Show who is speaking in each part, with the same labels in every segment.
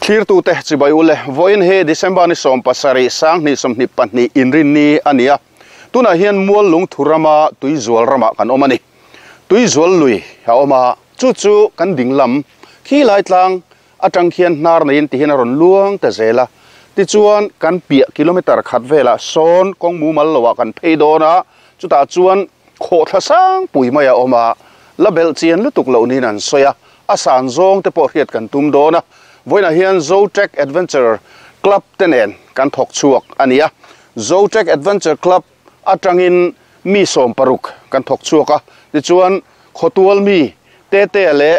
Speaker 1: Thlirtute chibai ule, vawiin hi December ni 17 2022 inrinni a ni a. Tunah hian mual lungthu rama tuizual ramah kan awm a ni. Tuizual lui a awm a, chu chu kan ding lam khi lai tlang atang khian hnar neiin tihian a rawn luang ta zel a. Tichuan kan piah kilometer khat velah sawn kawng mumal loah kan phei dawn a, chutah chuan khawhthla sang pui mai a awm a, la belh chian lutuk loh niin an sawi a, a san zawng te pawh hriat kan tum dawn a. Vawiinah hian Zotrek Adventure Club te nen kan thawk chhuak a ni a, Zotrek Adventure Club atangin mi 60 kan thawk chhuak a, tichuan khawtual mi Tetea leh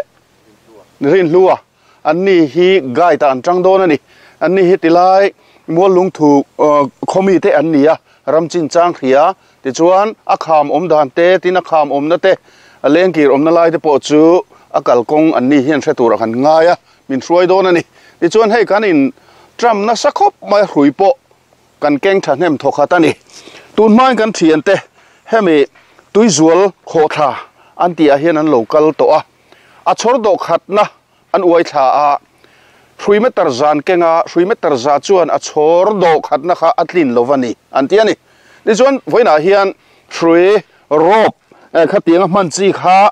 Speaker 1: Rinhlua an ni hi guide ah an tang dawn a ni. An ni hi tilai mual lungthu khaw mi te an ni a, ram chin chang hria tichuan a kham awm dan te tin a kham awmna te a lengkir awmna lai te pawh chu a kalkawng an ni hian hre turah kan ngai a, min hruai dawn a ni. Tichuan hei kan in tram nasa khawp mai a hrui pawh kan keng thahnem thawkhat a ni. Tun hmain kan thiante hemi tuizual khawhthla an tih ah hian an lo kal tawh a, a chhawr dawh khatna an uai thla a, hrui meter zan kenga hrui meter za chuan a chhawr dawh khatna kha a tlin lo va ni an ti a ni. Tichuan vawiinah hian hrui rope khatianga hman chi kha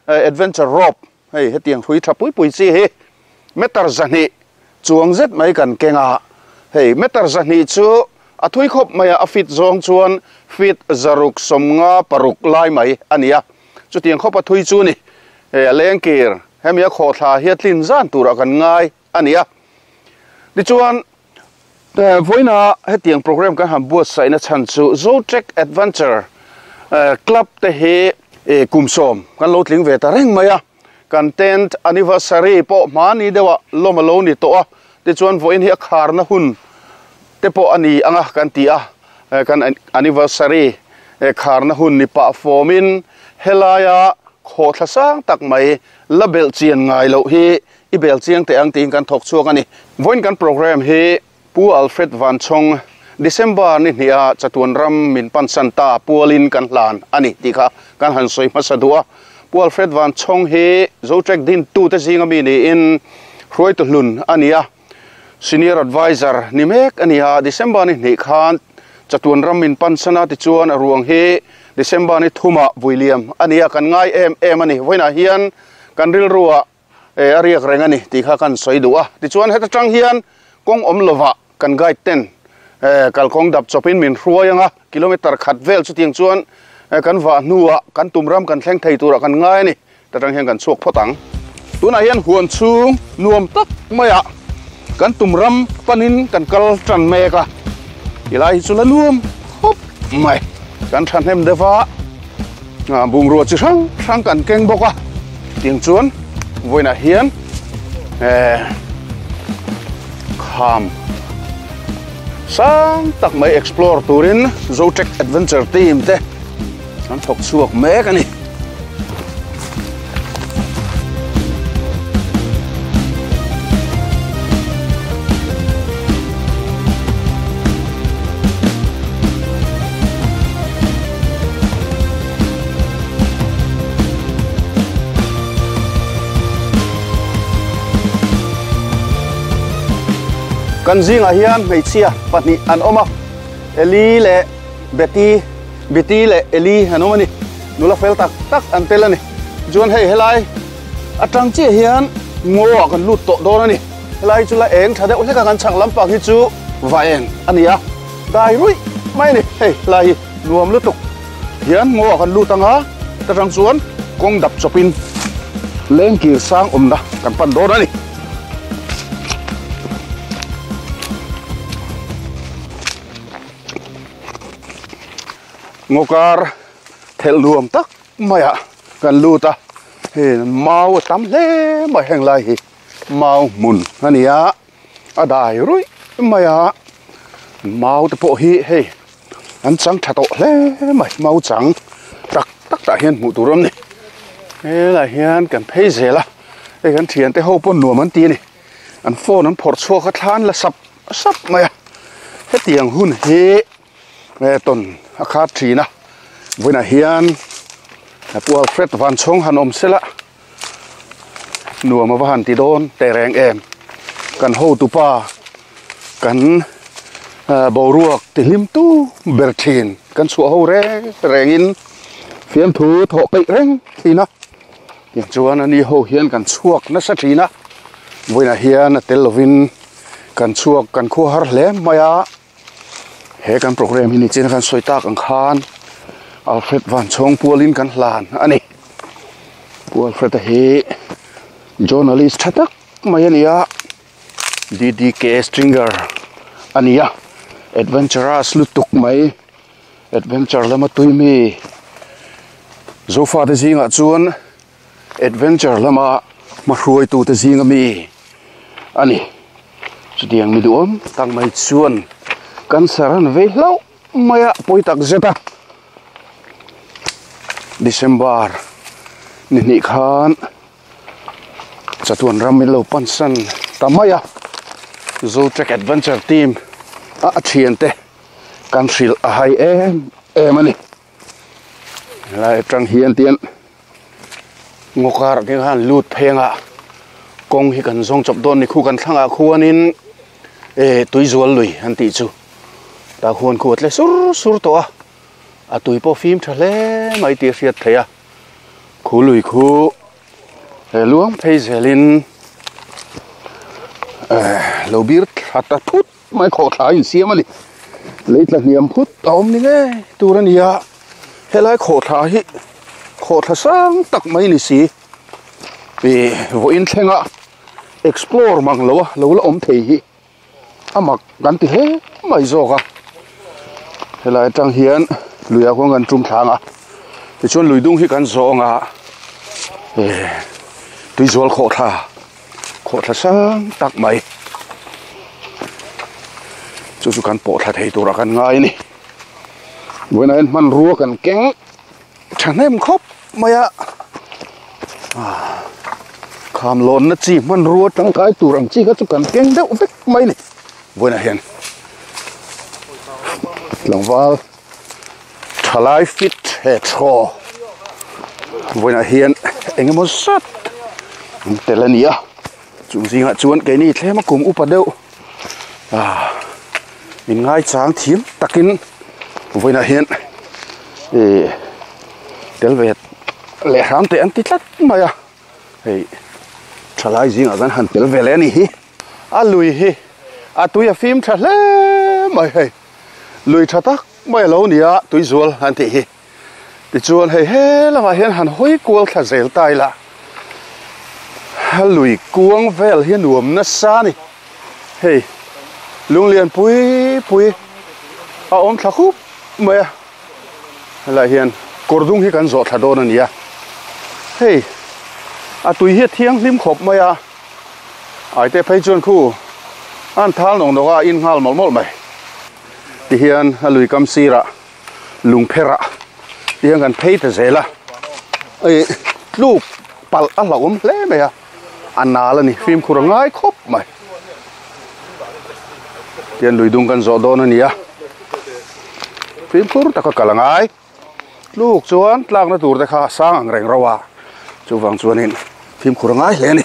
Speaker 1: adventure rope hei hetiang hrui tha pui pui chi hi meter 200 chuang zet mai kan kenga hei meter 200 chu a thui khawp mai a, a fit zawng chuan fit 656 lai mai a ni a, chutiang khawp a thui chu ni hei a lengkir hemi a khawhthla hi a tlin zan turah kan ngai a ni a. Tichuan vawiina hetiang program kan han buatsaihna chhan chu Zotrek Adventure Club te hi kum 10 kan lo tling ve ta reng mai a, kan 10th anniversary pawh hmani deuhah lawm a lo ni tawh a, tichuan vawiin hi a kharna hun te pawh a ni anga kan ti a, kan anniversary kharna hun ni pah fawmin helaia khawhthla sang tak mai la belh chian ngai loh hi i bel chiang teh ang tiin kan thawk chhuak a ni. Vawiin kan program hi Pu Alfred Vanchhawng December ni hniha chatuan ram min pansan ta pualin kan hlan a ni tih kha kan han sawi hmasa duh a. Pu Alfred Vanchhawng hi Zotrek din tute zinga mi niin hruaitu hlun a ni a, Senior Advisor ni mek a ni a. December ni hnih khan chatuan ram min pansan a, tichuan a ruang hi December ni thumah vuiliam a ni a, kan ngai em em a ni. Vawiinah hian kan rilruah a riak reng a ni tih kha kan sawi duh a. Tichuan heta tang hian kawng awm lovah kan guide ten kalkawng dap chawpin min hruai anga kilometer khat vel chutiang chuan kan vah hnuah kan tum ram kan thleng thei turah kan ngai a ni. Ta tang hian kan chhuak phawt ang. Tunah hian huan chhung nuam tak maiah kan tum ram panin kan kal tan mek a, tilai hi chu la nuam khawp mai. Kan thahnem deuh a, bungrua chi hrang hrang kan keng bawk a, tiang chuan vawiinah hian kham sang tak mai explore turin Zotrek Adventure Team te an thawk chhuak mek a ni. Kan zingah hian hmeichhia pahnih an awm a, Eli leh Betty, Betty leh Eli an awm a ni. Nula fel tak tak an tel a ni. Chuan hei helai atang chiah hian ngaw ah kan lut tawh dawn a ni. Helai chu la eng tha deuh hlek a, kan chhak lampang hi chu va eng a ni a, dai ruih mai a ni. Hei helai hi nuam lutuk hian ngaw ah kan lut ang a, ta tang chuan kawng dap chawpin lengkir sang awmna kan pan dawn a ni. Ngaw kar thelh nuam tak maiah kan lut a, hei mau a tam hle mai heng lai hi mau hmun a ni a, a dai ruih mai a, mau te pawh hi hei an chang tha tawh hle mai, mau chang tak tak tah hian hmuh tur a awm a ni, helaiah hian kan phei zel a, hei kan thiante ho pawh nuam an ti a ni, an phone an phawrh chhuak a thla an la sap sap mai a, hetiang hun hi. Tawn a khat thin a, vawiinah hian Pu Alfred Vanchhawng han awm sela nuam a va han ti dawn teh reng em. Kan hotupa kan boruak tihlim tu ber thin kan chhuah ho reng rengin fiamthu thawh peih reng thin a. Tichuan ani ho hian kan chhuak nasa thin a, vawiinah hian a tel lovin kan chhuak kan khua har hle mai a. He kan program hi nichin a kan sawi tak ang khan Alfred Vanchhawng pualin kan hlan a ni. Pu Alfred-a hi journalist tha tak mai a ni a, DDK Stringer a ni a, adventurous lutuk mai, adventure lama tui mi Zofate zingah chuan Adventure lama hmahruaitute zinga mi a ni. Chutiang mi duhawm tak mai chuan cancer an vei hlauh mai a, pawi tak zet a. December ni hnih khan chatuan ram in lo pansan ta mai a. Zotrek Adventure Team a a thiante kan hrilh a hai em em a ni. Helai atang hian tian ngaw karah te khan lut phei anga kawng hi kan zawng chawp dawn ni khu kan thlangah khuanin eh tuizual lui an tih chu tah khuan khu a tle sur sur tawh a a tui pawh fim tha hle mai tih a hriat theih a khu lui khu he luang phei zelin eh lo bir thla ta thut. Mai khawhthla a insiam a ni. Lei tla hniam phut a awm ni ngei tur a ni a, helai khawhthla hi khawhthla sang tak mai ni si. Ih vawiin thlenga explore mang lo a lo la awm thei hi a mak kan ti hle mai zawk a. Helai atang hian luiah khuan kan tum thlang a, tichuan lui dung hi kan zawng a, ih tuizual khawhthla. Khawhthla sang tak mai chu chu kan pawh thla thei turah kan ngai a ni vawiinah hian hmanrua kan keng thahnem khawp mai a kham lawnna chi hmanrua tangkai tur ang chi kha chu kan keng deuh vek mai a ni vawiinah hian tlangval thalai fit he thaw vawiinah hian eng emaw zat an tel a ni a chung zingah chuan keini thlema kum upa deuh ah min ngaichang thiam takin vawiinah hian ih tel ve leh hram teh an ti tlat mai a hei thalai zingah khan han tel ve leh a ni hi a lui hi a tui a fim tha hle mai hei. Lui tha tak mai a lo ni a, tuizual an tih hi. Tichuan hei he lamah hian han hawi kual thla zel ta ila, a lui kuang vel hi a nuam nasa a ni. Hei lunglian pui pui a awm thla khup mai a, helaiah hian kawr dung hi kan zawh thla dawn a ni a. Hei a tui hi a thianghlim khawp mai a. Aite phei chuan khu an thal nawk nawk a, a in nghal mawlh mawlh mai. Tihian a lui kam sirah lung pherah tihian kan phei ta zel a, ih tluk palh a hlauhawm hle mai a, a nal a ni fimkhur a ngai khawp mai. Tihian lui dung kan zawh dawn a ni a, fimkhur taka kal a ngai. Tluk chuan tlakna tur te kha a sang ang reng rauh a, chuvang chuanin fimkhur a ngai hle a ni.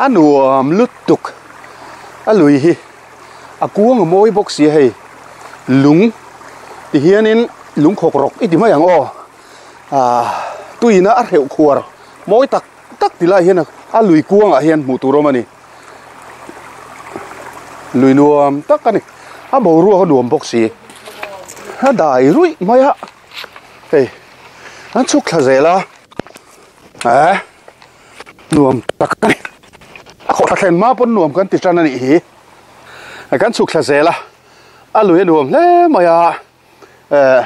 Speaker 1: A nuam lutuk a lui hi a kuang a mawi bawk si a hei lung ti hianin lung khawk rawk i ti mai ang aw ah tuiin a hreuh khuar mawi tak tak ti lai hian a lui kuangah hian hmuh tur a awm a ni. Lui nuam tak a ni a boruak a nuam bawk si a dai ruih mai a hei an chhuk thla zel a eh nuam tak a ni a khawhthla thlen hma pawn nuam kan ti tan a nih hi kan chhuk thla zel a a lui a nuam hle mai a eh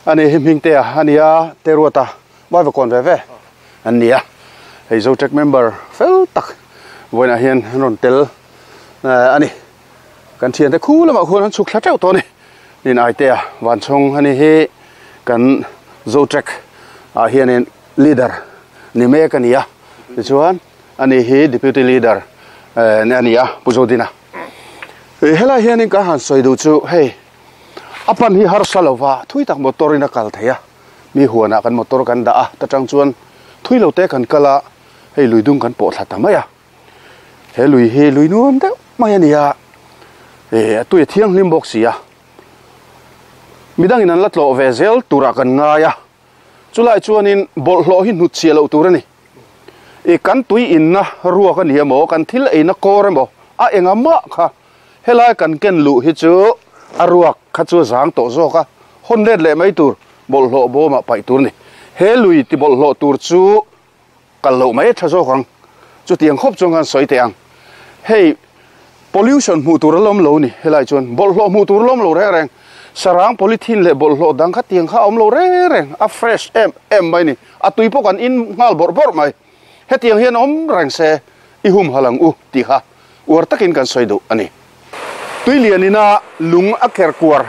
Speaker 1: ani hi hming te a ania te ruata vai va kawn ve ve an ni a hei Zotrek member fel tak vawiinah hian an rawn tel eh a ni kan thiante khu lamah khuan an chhuk thla teuh tawh a ni nin Aitea Vanchhawng ani hi kan Zotrek ah hianin leader ni mek a ni a tichuan ani hi deputy leader eh a ni a Pu Zodina helai hianin ka han sawi duh chu hei. A pan hi harsa lova thui tak motor in a kal thei a, mi huanah kan motor kan dah a, ta tang chuan thui lo te kan kal a, hei lui dung kan pawh thla ta mai a. He lui hi lui nuam deuh mai a ni a, eh a tui a thianghlim bawk si a. Midangin an la tlawh ve zel turah kan ngai a, chulai chuanin bawlhhlawh hi hnut chhiah loh tur a ni. I kan tui inna ruak a ni emaw, kan thil eina kawr emaw a enga mah kha helai kan ken luh hi chu a ruak kha chu a zang tawh zawk a, hawn let leh mai tur bawlhhlawh bawmah paih tur a ni. He lui ti bawlhhlawh tur chu kal loh mai a tha zawk ang. Chutiang khawp chuan khan sawi teh ang. Hei pollution hmuh tur a lawm lo ni helai chuan bawlhhlawh hmuh tur a lawm lo reng reng. Sarang polythene leh bawlhhlawh dang kha tiang kha a awm lo reng reng a fresh em em mai ni. A tui pawh kan in nghal bawrh bawrh mai. Hetiang hian awm reng se i humhal ang u tih kha uar takin kan sawi duh a ni. Tui lianina lung a ker kuar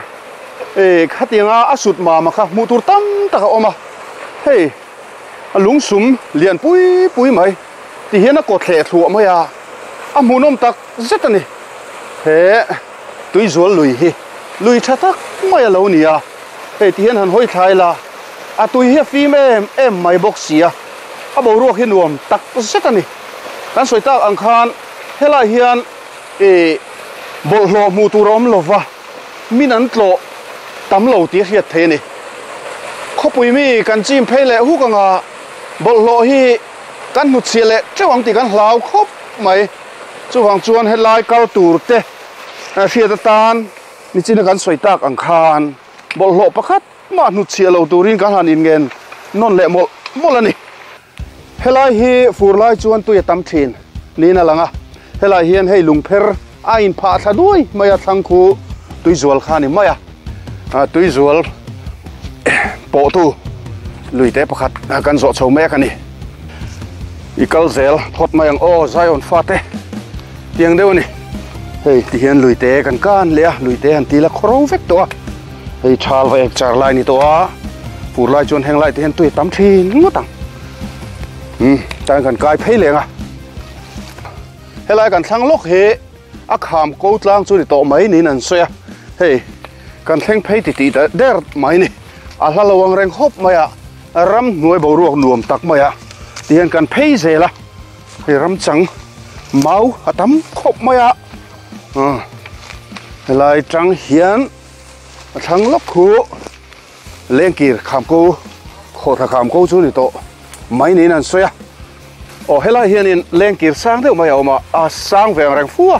Speaker 1: e khatianga a sut mama kha hmuh tur tam tak a awm a, hei a lung sum lian pui pui mai ti hian a kaw thleh thluah mai a, a hmuhnawm tak zet a ni. He tuizual lui hi lui tha tak mai a lo ni a, hei ti hian han hawi thlai la, a tui hi a fim em em mai bawk si a, a boruak hi nuam tak zet a ni. Kan sawi tak ang khan helai hian Ih, bawlhhlawh hmuh tur a awm lo va, min an tlawh tam lo tih a hriat theih a ni. Khawpui mi kan chim phei leh huk anga bawlhhlawh hi kan hnutchhiah leh teuh ang tih kan hlau khawp mai. Chuvang chuan helai kal tur te hriat atan nichina kan sawi tak ang khan bawlhhlawh pakhat mah hnutchhiah lo turin kan han inngen nawn leh mawlh mawlh a ni. Helai hi fur lai chuan tui a tam thin niin a lang a, helai hian hei lungpher a inphah thla duai mai a, thlang khu tuizual kha a ni mai a, tuizual pawhtu luite pakhat kan zawh chho mek a ni. I kal zel phawt mai ang aw Zion fate tiang deuh a ni. Hei tihian luite kan kan leh a, luite han ti la khawro vek tawh a, hei thal va ek char lai ni tawh a, fur lai chuan heng lai te hian tui a tam thin ngawt ang. Umm tan kan kai phei leng a, helai kan thlang lawk hi a kham ko tlang chu ni tawh mai niin an sawi a, hei kan thleng phei ti tih der mai ni, a hla lo ang reng khawp mai a, ramhnuai boruak nuam tak mai a tihian kan phei zel a. Hei ram chang mau a tam khawp mai a, helai tang hian a thlang lawk khu lengkir kham ko khawhthla kham ko chu ni tawh mai niin an sawi a, aw helai hianin lengkir sang deuh mai a awm a, a sang ve ang reng fu a,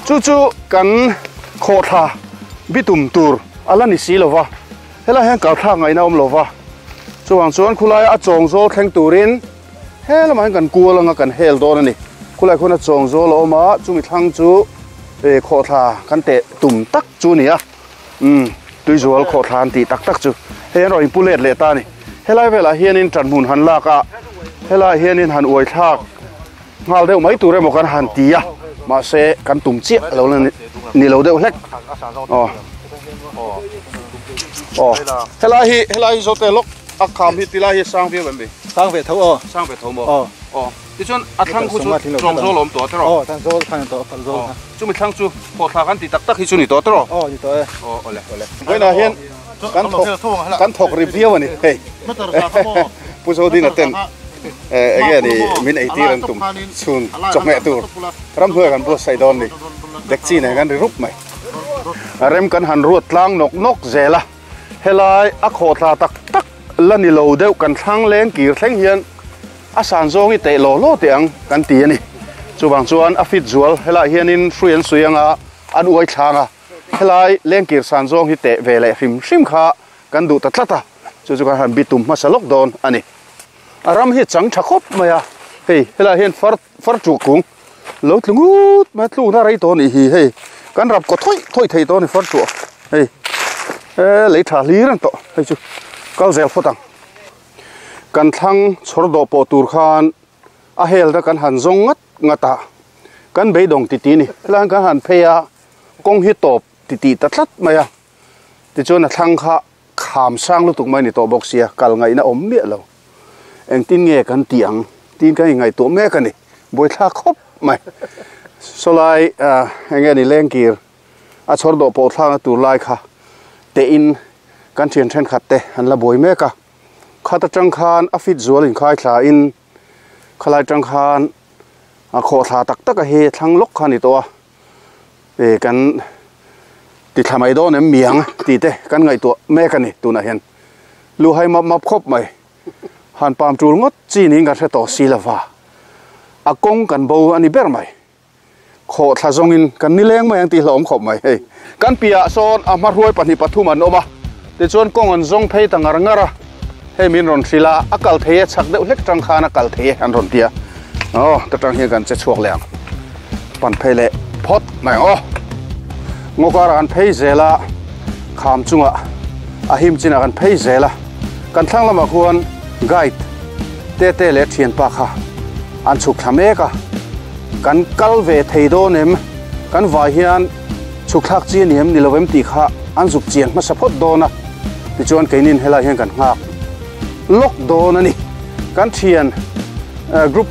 Speaker 1: chu chu kan khawhthla bitum tur a la ni si lo va, helai hian kalthlak ngaihna a awm lo va, chuvang chuan khulaia a chawng zawl thleng turin. He lamah hian kan kual anga kan hel dawn a ni. Khulai khuan a chawng zawl a awm a, chumi thlang chu eh khawhthla kan teh tum tak chu a ni a. Umm tuizual khawhthla an tih tak tak chu hei an rawn inpu let leh ta a ni. Helai velah hianin ṭanhmun han lak a, helaiah hianin han uai thlak nghal deuh mai tur emaw kan han ti a, mahse kan tum chiah lo la ni lo deuh hlek. Aw aw helai hi helai hi zawte lawk a kham hi tilai hi a sang viau em ni?
Speaker 2: Sang ve tho aw.
Speaker 1: Sang ve tho maw? Aw. Aw. Tichuan a thlang khu chu chawng zawl a awm tawh tiraw?
Speaker 2: Aw, thlang zawl khan a tawh, phal zawl kha.
Speaker 1: Chumi thlang chu khawhthla kan tih tak tak hi chu ni tawh tiraw?
Speaker 2: Aw, ni tawh e.
Speaker 1: Aw, awle, awle. Vawiinah hian kan thawk, kan thawk ri viau a ni hei. Pu Zodina ten eng nge ni min eitir an tum chhun chawhmeh tur ramhnuai kan buatsaih dawn ni. Dekchi nen kan ri rup mai. Rem kan han ruat tlang nawk nawk zel a. Helai a khawhthla tak tak la ni lo deuh kan thlang leng kir thleng hian a san zawng hi teh law law teh ang kan ti a ni. Chuvang chuan a fit zual helaiah hianin hrui an sui anga an uai thlang a, helai leng kir san zawng hi teh ve leh hrim hrim kha kan duh ta tlat a, chu chu kan han bitum hmasa lawk dawn a ni. A ram hi chang tha khawp mai a, hei helaiah hian far far tuah kung lo tlu ngut mai a, tlukna rei tawh a nih hi hei kan rap kaw thawih thawih thei tawh a ni far tuah hei he lei tha hlir an tawh hei chu kal zel phawt ang. Kan thlang chhawr dawh pawh tur khan a hel te kan han zawng ngat ngat a, kan beidawng ti ti a ni. Helai hian kan han phei a, kawng hi tawp ti tih ta tlat mai a, tichuan a thlang kha kham sang lutuk mai a ni tawh bawk sia, kal ngaihna awm miah lo. Engtin nge kan tih ang tiin kan inngaihtuah mek a ni, buaithlak khawp mai. Sawlai eng nge ni lengkir a chhawr dawh pawh thlakna tur lai kha tein kan thian thenkhat te an la buai mek a, khat atang khan a fit zual inkhai thla in khalai tang khan A khawhthla tak tak a hi thlang lawk kha a ni tawh a, ih kan ti thla mai dawn em miang tih te kan ngaihtuah mek a ni tunah hian. Luhai map map khawp mai. Han pam tul ngawt chi niin kan hre tawh si lova, a kawng kan bo a ni ber mai. Khawhthla zawngin kan ni leng mai ang tih hlauhawm khawp mai hei. Kan piahah sawn a hmahruai pahnih pathum an awm a, tichuan kawng an zawng phei ta ngar ngar a, hei min rawn hrilh a, a kal thei e, chhak deuh hlek tang khan a kal thei e an rawn ti a, aw ta tang hian kan che chhuak leh ang, pan phei leh phawt mai ang aw. Ngaw karah kan phei zel a, kham chungah a him chinah kan phei zel a, kan thlang lamah khuan guide Tete leh thianpa kha an chhuk thla mek a. Kan kal ve thei dawn em? Kan vai hian chhuk thlak chi a ni em ni lo em tih kha an zuk chian hmasa phawt dawn a, tichuan keinin helai hian kan nghak lawk dawn a ni. Kan thian group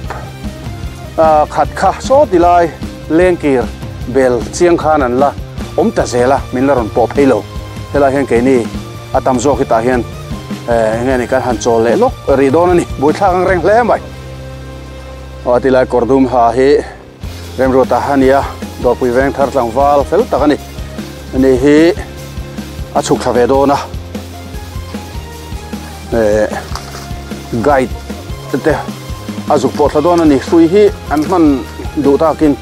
Speaker 1: khat kha saw ti lai lengkir bel chiang khan an la awm ta zel a, min la rawn pawh phei lo. Helai hian keini a tam zawk hi tah hian eng nge ni kan han chawl leh lawk rih dawn a ni. Buaithlak ang reng hle mai. Aw tilai kawr dum ha hi Remruata a ni a, Dawrpui veng thar tlangval fel tak a ni. Ani hi a chhuk thla ve dawn a, eh guide te a zuk pawh thla dawn a ni. Hrui hi an hman duh takin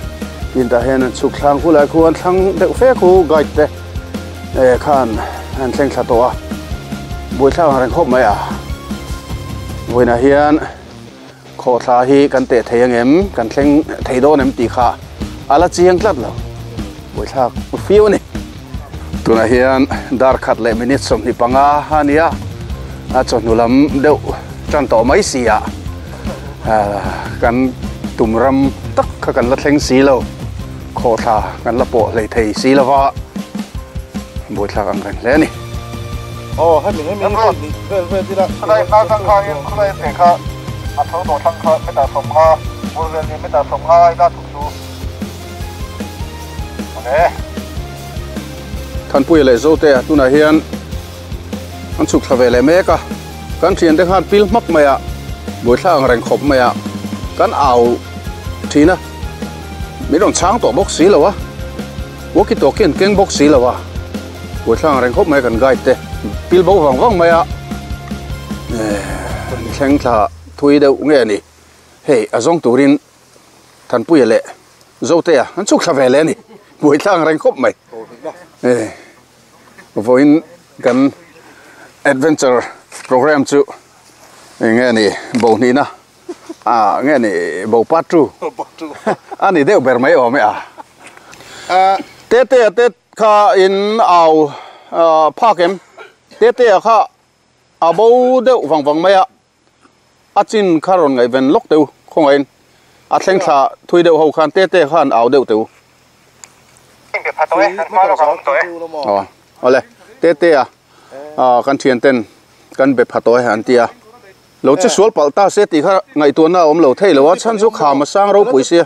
Speaker 1: tin tah hian an chhuk thlang khu lai khu an thlang deuh fe khu guide te eh khan an thleng thla tawh a, buaithlak ang reng khawp mai a. Vawiinah hian. Khawhthla hi kan teh thei angem, kan thleng thei dawn em tih kha a la chiang tlat lo. Buaithlak fiu a ni. Tunah hian dar khat leh minute 25 a nia, a chawhnu lam deuh tan tawh mai si a, kan tum ram tak kha kan la thleng si lo, khawhthla kan la pawh hlei thei si lo va, buaithlak ang reng hle a ni.
Speaker 2: Aw hemi hemi hi ni vel vel ila.
Speaker 3: Khulai hma tang kha in khulai te kha a tho tawh thlang kha meter 50 bur vel ni meter 50 ai la thuk chu awle.
Speaker 1: Thanpuia leh Zotea tunah hian an chhuk thla ve leh mek a, kan thiante khan pil hmak mai a, buaithlak ang reng khawp mai a, kan au thin a, min rawn chhang tawh bawk si lo a, walkie talkie an keng bawk si lo a. Buaithlang reng khawp mai kan guide te pil bo vang vang mai a thleng thla thui deuh nge a ni hei a zawng turin Thanpuia leh Zotea an chhuk thla ve leh a ni buaithlang reng khawp mai vawiin kan adventure program chu eng nge ni bo hnihna ah nge ni bo part two a ni deuh ber mai awm e a Tetea te Kha in au phak em? Tetea kha a bo deuh vang vang mai a, a chin kha rawn ngaihven lawk teu khawngaihin a thleng thla thui deuh ho khan Tetea khan au deuh teu. Aw awle Tetea kan thian ten kan be pha tawh e an ti a, lo che sual palh ta se tih kha ngaihtuahna a awm lo thei lo a, chhan chu kham a sang ropui sia.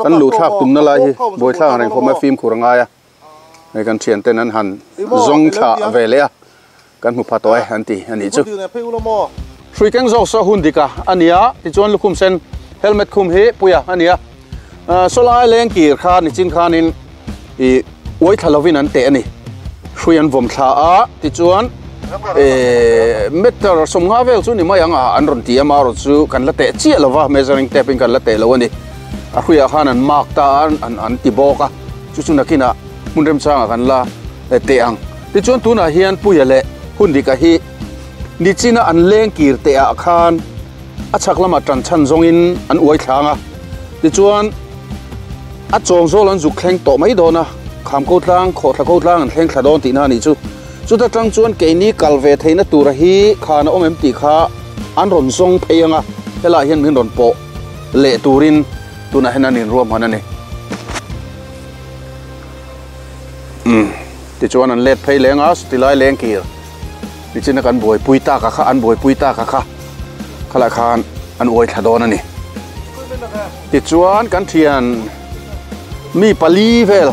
Speaker 1: Kan luh thlak tumna lai hi buaithlak ang reng khawp mai fimkhur a ngai a, hei kan thian ten an han zawng thlah ve leh a, kan hmu pha tawh e an ti a nih chu. Hrui keng zawk saw hun dik a a ni a, tichuan lukhum sen helmet khum hi puia a ni a, sawlai leng kir kha nichin khanin ih uai thla lovin an teh a ni. Hrui an vawm thla a, tichuan meter 50 vel chu ni mai ang a, an rawn ti a, marawh chu kan la teh chiah lo va, measuring tape in kan la teh lo a ni. A hruiah khan an mark ta a, an ti bawk a, chu chu nakinah hmun remchangah kan la teh ang. Tichuan tunah hian Puia leh Hundika hi nichina an leng kir teh ah khan a chhak lamah tan chhan zawngin an uai thlang a, tichuan a chawng zawl an zuk thleng tawh mai dawn a, kham ko tlang, khawhthla ko tlang an thleng thla dawn tihna a nih chu. Chuta tang chuan keini kal ve theihna tura hi khan a awm em tih kha an rawn zawng phei ang a, helaiah hian min rawn pawh leh turin tunah hian an inruahman a ni. Umm, tichuan an let phei leng a, tilai leng kir. Nichina kan buaipui tak a kha, an buaipui tak a kha, khalai khan an uai thla dawn a ni. Tichuan kan thian mi pali vel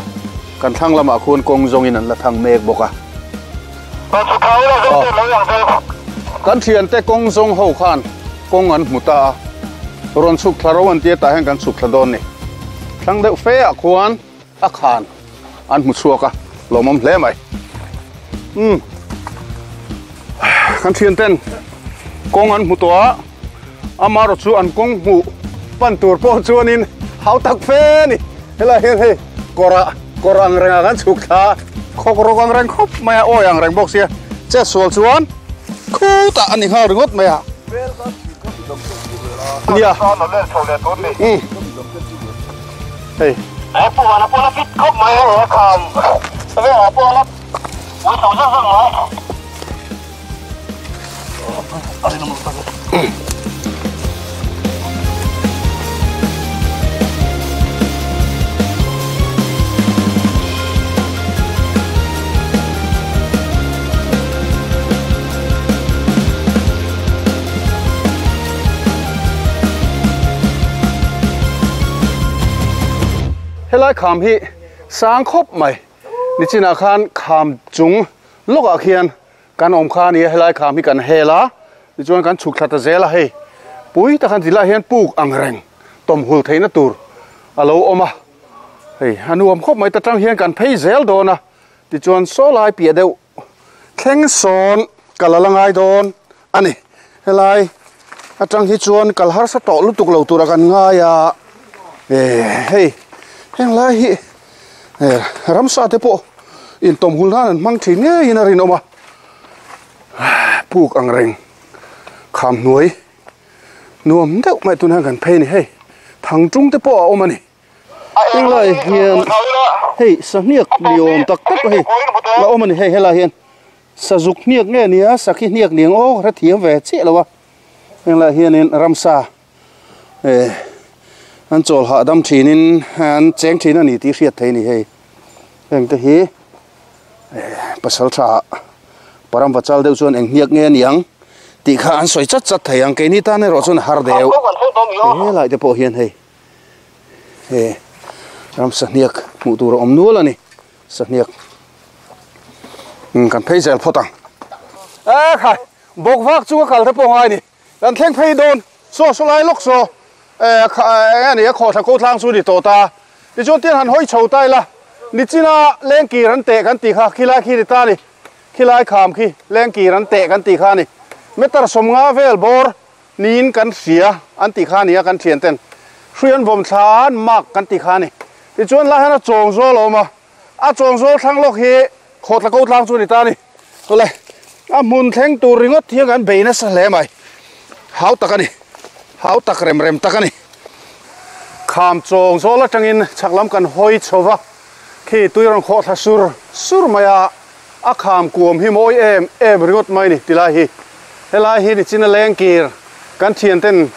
Speaker 1: kan thlang lamah khuan kawng zawngin an la thang mek bawk a. Kan thiante kawng zawng ho khan kawng an hmu ta a. Rawn chhuk thla ro an tia tah hian kan chhuk thla dawn ni. Thlang deuh fe ah khuan a khan an hmu chhuak a, lawmawm hle mai. Umm kan thian ten kawng an hmu tawh a, amarawh chu an kawng hmuh pan tur pawh chuanin hau tak fe a ni. Helai hian hei kawr ah kawr ang rengah kan chhuk thla a, khawk rawk ang reng khawp mai a, awi ang reng bawk sia chetsual chuan khutah a ni nghal ringawt mai a. Nia. Umm. Hei. Helai kham hi sang khawp mai nichinah khan kham chung lawkah khian kan awm kha a ni a helai kham hi kan hel a tichuan kan chhuk thla ta zel a hei pui tak an ti lai hian puk ang reng tawmhul theihna tur a lo awm a hei a nuam khawp mai ta tang hian kan phei zel dawn a tichuan saw lai piah deuh thleng sawn kal a la ngai dawn a ni helai atang hi chuan kal harsa tawh lutuk lo tura kan ngai a eh hei heng lai hi eh ramsa te pawh intawmhul nan an hmang thin ngeiin a rinawm a puk ang reng kham hnuai nuam deuh mai tunah kan phei a ni hei thang tung te pawh a awm a ni. Helai hian hei sahniak ni awm tak tak hei la awm a ni hei helai hian sazuk hniak nge nia sakhi hniak ni ang aw ka hrethiam ve chiah lo a helai hianin ramsa eh an chawl hahdam thinin an cheng thin a ni tih hriat theih a ni hei heng te hi eh pasal tha paramva chal deuh chuan eng hniak nge a ni ang tih kha an sawi chat chat thei ang keini tan erawh chuan a har deuh helai te pawh hian hei. He ram sahniak hmuh tur a awm nual a ni sahniak kan phei zel phawt ang e khai bawk vak chu ka kal te pawh ngai ni kan thleng phei dawn saw saw lai lawk saw e eng a ni a khawhthla ko tlang chu ni tawh ta tichuan tiang han hawi chho ta ila nichina lengkir an teh kan tih kha khilai khi ni ta ni khilai kham khi lengkir an teh kan tih kha a ni meter sawmnga vel bawr Niin kan hria an tih kha a ni a, kan thian ten hrui an vawm thla an mark kan tih kha a ni. Tichuan lai hian a chawng zawl a awm a, a chawng zawl thlang lawk hi khawtla ko tlang chu a ni ta a ni. Chawleh a hmun thleng tur ringawt hian kan bei nasa hle mai, hau tak a ni, hau tak rem rem tak a ni. Kham chawng zawl atangin chhak lam kan hawi chho va, khi tui rawn khawh thla sur sur mai a. A kham kuam hi mawi em em ringawt mai ni tilai hi. Helai hi nichina lengkir kan thian ten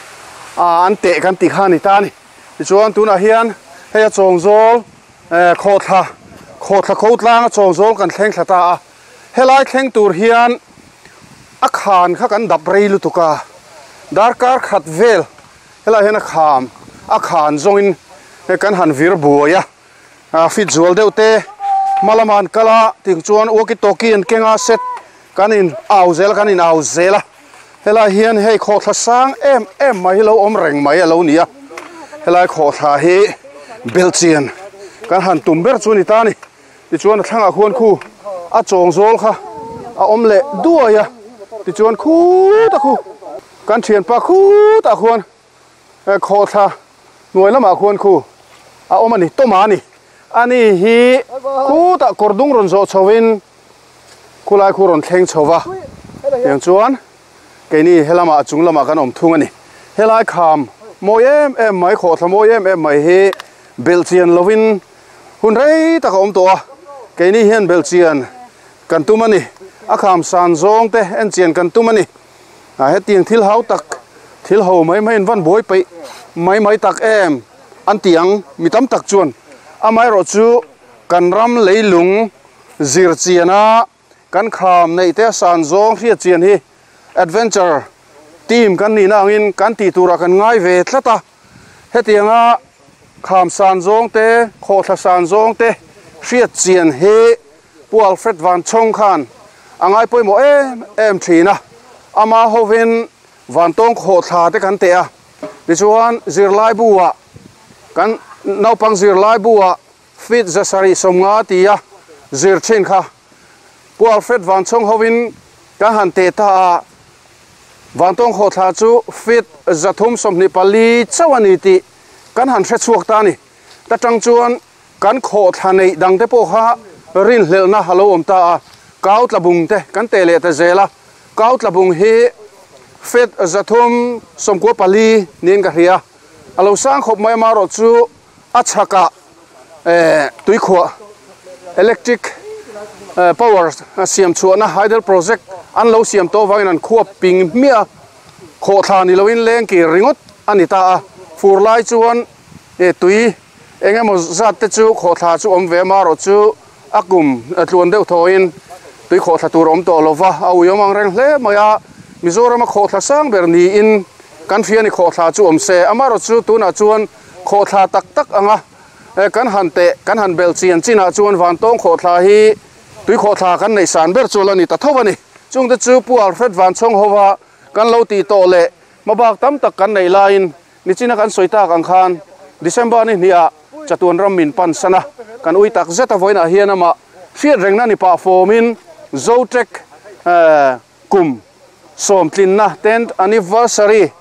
Speaker 1: an teh kan tih kha a ni ta a ni. Tichuan tunah hian hei a chawngzawl khawhthla khawhthla kho tlang a chawngzawl kan thleng thla ta a. Helai thleng tur hian a khan kha kan dap rei lutuk a. Darkar khat vel helai hian a kham a khan zawngin kan han vir buai a. A fit zual deuh te hma lama an kal a ting chuan walkie talkie an keng a set kan in au zel a kan in au zel a helai hian hei khawhthla sang em em mai hi lo awm reng mai a lo ni a helai khawhthla hi belhchian kan han tum ber chu a ni ta a ni tichuan a thlangah khuan khu a chawng zawl kha a awm leh duai a tichuan khutah khu kan thianpa khutah khuan Khawhthla hnuai lamah khuan khu a awm a ni, tawma a ni. Ani hi khutah kawr dung rawn zawh chhoin khulai khu rawn thleng chho va, tiang chuan keini helamah a chung lamah kan awm thung a ni. Helai kham mawi em em mai, khawhthla mawi em em mai hi belhchian lovin hun rei tak a awm tawh a, keini hian belhchian kan tum a ni. A kham san zawng te enchian kan tum a ni. A hetiang thil hau tak thil ho mai mai in van buai peih mai mai tak em an ti ang mi tam tak chuan amaherawh chu kan ram leilung zir chian a kan kham neih te a san zawng hriat chian hi adventure team kan nihna angin kan tih turah kan ngai ve tlat a hetianga kham san zawng te khawhthla san zawng te hriat chian hi Pu Alfred Vanchhawng khan a ngai pawimawh em em thin a, ama hovin Vantawng khawhthla te kan teh a. Tichuan zirlaibu ah kan naupang zirlaibu ah feet 750 tia zir thin kha Pu Alfred Vanchhawng hovin kan han teh ta a, Vantawng khawhthla chu feet 324 chauh a ni tih kan han hre chhuak ta a ni. Ta tang chuan kan khawhthla neih dang te pawh kha rinhlelhna a lo awm ta a, kau tlabung te kan teh leh ta zel a, kau tlabung hi feet 394 niin ka hria, a lo sang khawp mai amaherawh chu a chhakah tuikhuah electric power siam chhuahna hydel project an lo siam tawh avangin an khuap ping hmiah a, khawhthla ni loin leng kir ringawt a ni ta a, fur lai chuan tui eng emaw zat te chu khawhthla chu awm ve amaherawh chu a kum tluan deuh thawin tui khawhthla tur awm tawh lova a ui awm ang reng hle mai a, Mizorama khawhthla sang ber niin kan hria ni khawhthla chu awm se amaherawh chu tunah chuan khawhthla tak tak anga kan han teh kan han bel chian chinah chuan Vantawng khawhthla hi tui khawhthla kan neih san ber chu la ni ta tho a ni. Chungte chu Pu Alfred Vanchhawng hova kan lo tih tawh leh hmabak tam tak kan neih laiin nichina kan sawi tak ang khan December ni hniah chatuan ram min pan san a, kan ui tak zet a vawiinah hian amah hriat rengna ni pah fawmin Zotrek kum sawmtlinna tenth anniversary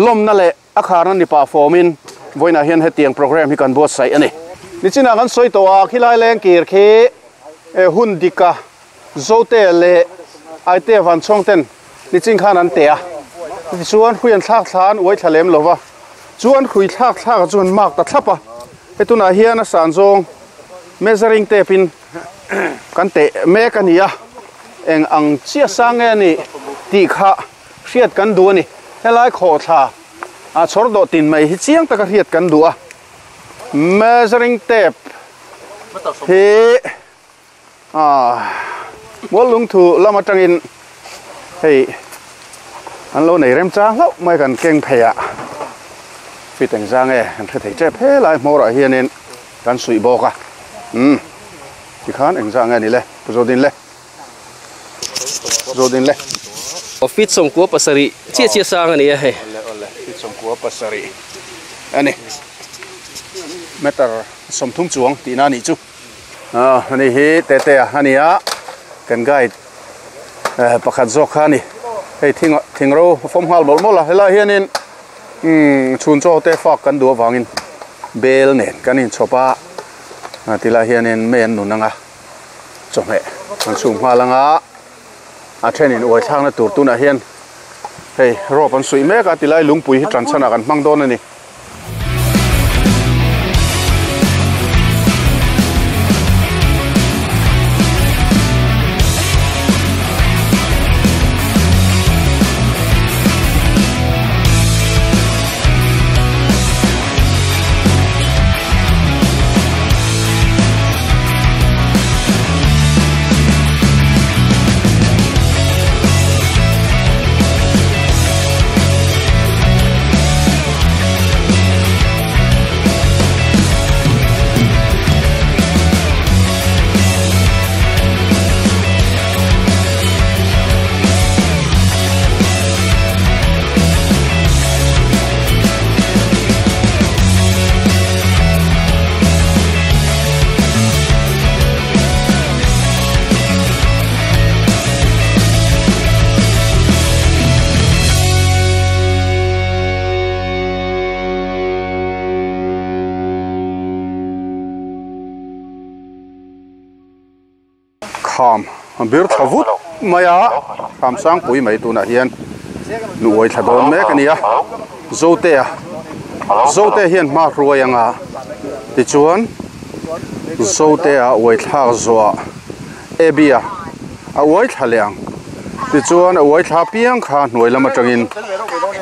Speaker 1: lawmna leh A kharna ni pah fawmin vawiinah hian hetiang programme hi kan buatsaih a ni. Nichinah kan sawi tawh a, khilai leng kir khi hun dika Zote leh Aite Vanchhawng ten nichin khan an teh a. Tichuan hrui an thlak thla an uai thla lem lo va, chu an hrui thlak thlakah chuan mark ta thlap a. Hei tunah hian a san zawng measuring tape in kan teh mek a ni a, eng ang chiah sang nge a nih tih kha hriat kan duh a ni. Helai khawhthla a chhawr dawh tin mai hi chiang taka hriat kan duh a. Measuring tape hi mual lungthu lam atangin hei an lo nei remchang hlauh mai kan keng phei a. Fit engzang nge kan hre thei tep helai hmawrah hianin kan suih bawk a. Umm tikhan engzang nge ni le Pu Zodin le. Zawdin le.
Speaker 4: Aw feet 97 chiah chiah sang a ni a hei.
Speaker 1: Awle awle feet 97 a ni. Meter 30 chuang tihna a nih chu. Aw ani hi Tete a ni a kan guide pakhat zawk kha a ni. Hei thing thingro a fawm nghal mawlh mawlh a helai hianin umm chhun chaw te fak kan duh avangin bel nen kan inchhawp a tilai hianin mei an nun ang a. Chawhmeh an chhum nghal anga a thenin uai thlakna tur tunah hian hei rope an suih mek a tilai lungpui hi tan chhanah kan hmang dawn a ni. Kham a bir thla vut mai a, kham sangpui mai tunah hian nuai thla dawn mek a ni a, Zotea Zotea hian hma hruai anga tichuan Zotea uai thlak zawhah Abby-a a uai thla leh ang tichuan a uai thla piang kha hnuai lam atangin